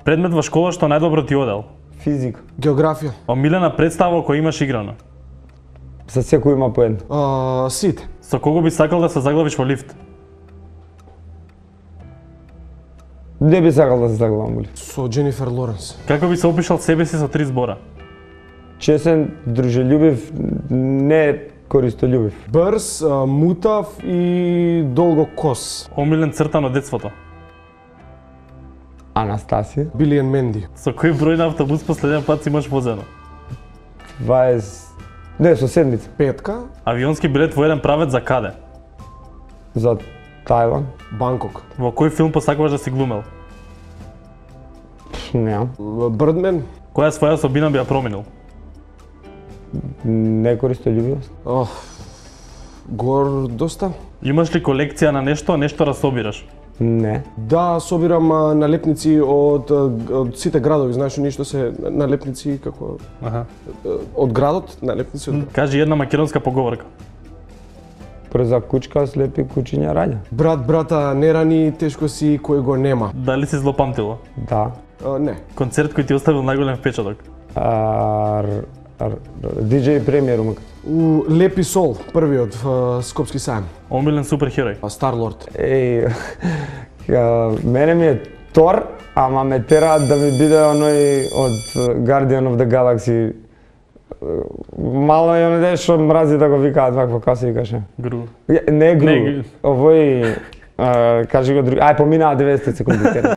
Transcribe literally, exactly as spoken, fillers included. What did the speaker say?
Предмет во школа што најдобро ти одел. Физика. Географија. Омилена представа која имаш играно. За секој има по едно. А, сите. Со кого би сакал да се заглавиш во лифт? Не би сакал да се заглавам во лифт. Со Дженифер Лоренс. Како би се опишал себе си со три збора? Чесен, дружелюбив, не користолюбив. Брз, а, мутав и долго кос. Омилен цртан од детството. Анастасија. Билијан Менди. Со кој број на автобус последен пат си имаш возено? дваесет... Не, со седмица. Петка. Авионски билет во еден правец за каде? За Тајланд. Банкок. Во кој филм посакуваш да си глумел? Неам. Брдмен. Која своја особина би ја променил? Не користолюбивост. Ох, гордоста. Имаш ли колекција на нешто, нешто расобираш? Не. Да, собирам а, налепници од, од сите градови, знаеш ништо се налепници како Аха. од градот, налепници од градот. Кажи една македонска поговорка. Брза кучка слепи кучиња раѓа. Брат, брата, не рани, тешко си кој го нема. Дали си злопамтило? Да. А, не. Концерт кој ти оставил најголем впечаток? А, диџеј премиер умак. У Лепи Сол, првиот в Скопски сајм. Омилен суперхерој? Старлорд. Еј, мене ми е Тор, ама ме тераат да ми биде оној од Guardian of the Galaxy. Мало е оној што мрази да го викаат вакво, како се викаше? Гру. Не Гру, Не, овој, кажи го други, ај поминаа деветдесет секунди.